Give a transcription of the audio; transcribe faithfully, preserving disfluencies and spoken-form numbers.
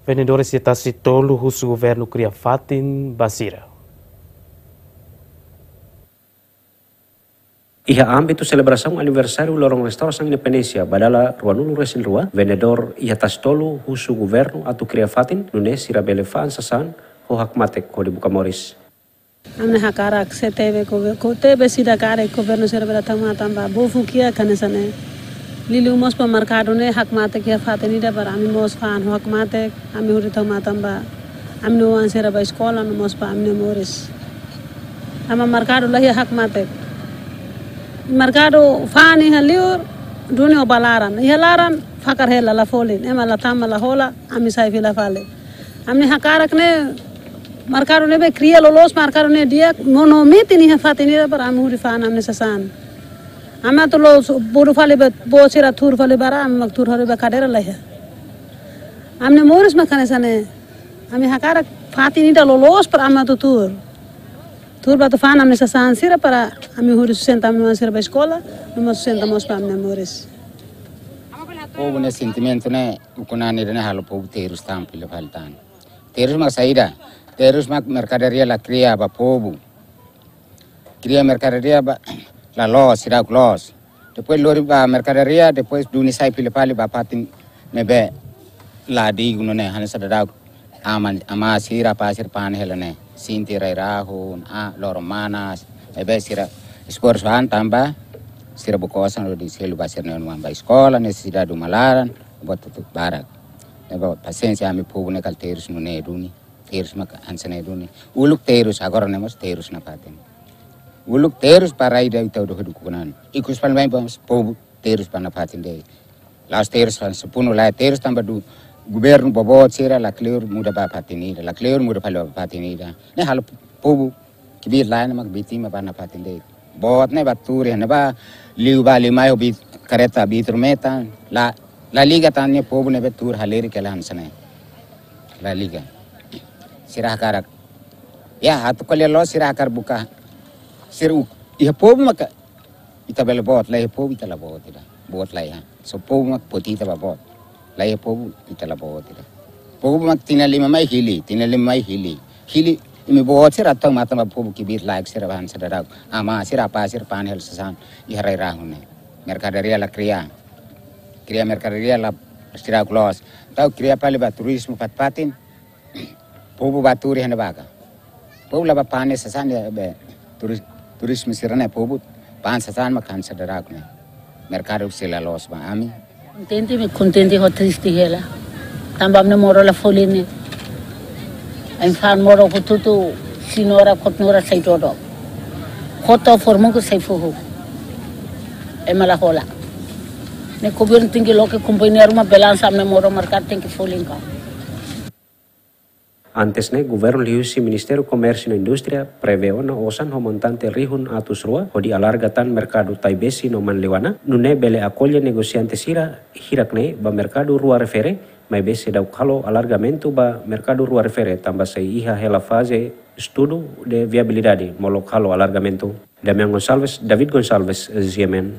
Vendedores iha Tasi Tolu husu governu kria fatin ba sira. Iha ámbitu selebrasaun aniversáriu loron restaurasaun independénsia ba dala ruanulu resin rua, vendedór iha Tasi Tolu husu governu atu kria fatin nune'e sira bele fa'an sasán ho hakmatek hodi buka moris. Ami hakarak se tebe ko, ko tebe sida karik governu sira bele tau matan ba bofu kiak hanesan ne'e. Liuliu mós ba merkadu ne'e hakmatek iha fatin ida para ami mós fa'an ho hakmatek, ami hodi tau matan ba ami-nia oan sira ba eskola no mós ba ami-nia moris. Tanba merkadu la iha hakmatek. Merkadu fa'an iha liur, duni ho ba laran. Iha laran, fakar hela la folin. Ema la tama la hola, ami sai fila fali. Ami hakarak ne'e, merkadu ne'ebé kria loloos, merkadu ne'e di'ak, no, no metin iha fatin ida para ami hodi fa'an ami-nia sasán. Ami atu la'o su-, bodu fali ba, boot sira tuur fali ba rai, ami mak tuur fali ba kadeira la iha. Ami-nia moris mak hanesan ne'e. Ami hakarak fatin ida loloos para ami atu tuur. Tuur ba atu fa'an ami-nia sasán sira para ami hodi sustenta ami-nia oan sira ba eskola, no mós sustenta mós ba ami-nia moris. Povu nia sentimentu ne'e, ukun-an ida ne'e halo povu terus tan fila fali tan. Terus mak saida, terus mak merkadoria la kria ba povu. Kria merkadoria ba, la loos, seidauk loos. Depois lori ba merkadoria, depois duni sai fila fali ba fatin ne'ebé la dignu ne'e, hanesan seidauk ama, ama sira, apá sira fa'an hela ne'e. Sente rai-rahun, ah, loron manas, ne'ebé sira esforsu an tanba sira buka osan hodi selu ba sira-nia oan ba eskola, nesesidade uma laran, buat hotu barak. Ne'ebé pasiénsia ami povu ne'e kala terus nune'e duni, terus mak hanesan ne'e duni. Uluk terus, agora ne'e mós terus nafatin. Uluk terus para ida ita udah hudu kunan. Ikus pan mai bos povu terus ba nafatin de'it. La'ós terus pan sepunu la terus tanba duni governu boboot sira la kleur muda ba fatin ida, la kleur muda fali ba fatin ida. Ne'e halo povu kbiit-laek ne'e mak vítima ba nafatin de'it. Boot ne'e ba tuur iha ne'ebá liu ba liu mai ho bit-, kareta vitru metan, la, la liga tan ne'e povu ne'ebé tuur halerik hela hanesan ne'e. La liga. Sira hakarak. Ya, atu ko'alia loos sira hakarak buka. Sira uk-, iha povu maka ita bele boot, la iha povu ita la boot ida. Boot la iha. Só povu mak poti ita ba boot. La iha povu ita la boot ida. Povu mak tinan lima mai hili, tinan lima mai hili. Hili imi boot sira tau matan ba povu kbiit-laek sira ba hanesan seidauk. Ama sira, apá sira fa'an hela sasán iha rai-rahun ne'e. Merkadoria la kria. Kria merkadoria la seidauk loos. Tau kria fali ba turizmu fatin-fatin. Povu ba tuur iha ne'ebá ka. Povu la ba fa'an sasán ne'ebé turis-, turizmu sira ne'e povu fa'an sasán mak hanesan seidauk ne'e. Merkadu sei la loos ba ami. Kontente, ami kontente ho triste hela. Tanba ami-nia moru la folin ne'e. Ami fa'an moru hotu-hotu, senhora, kotnora sai dodok. Hotu formuku sai fuhu. Ema la hola. Ne'e governu tenke loke kompañia ruma balansa ami-nia moru merkadu tenke folin ka. Antes ne'e, governu liuhusi Ministériu Komérsiu no Indústria prevee ona osan ho montante rihun atus rua hodi alarga tan merkadu Taibesi no Manleuana, nune'e bele akolle negosiante sira hirak ne'e ba merkadu rua refere, maibé seidauk halo alargamentu ba merkadu rua refere tanba sei iha hela faze estudu de viabilidade molok halo alargamentu. Damian Gonçalves, David Gonçalves, G M N.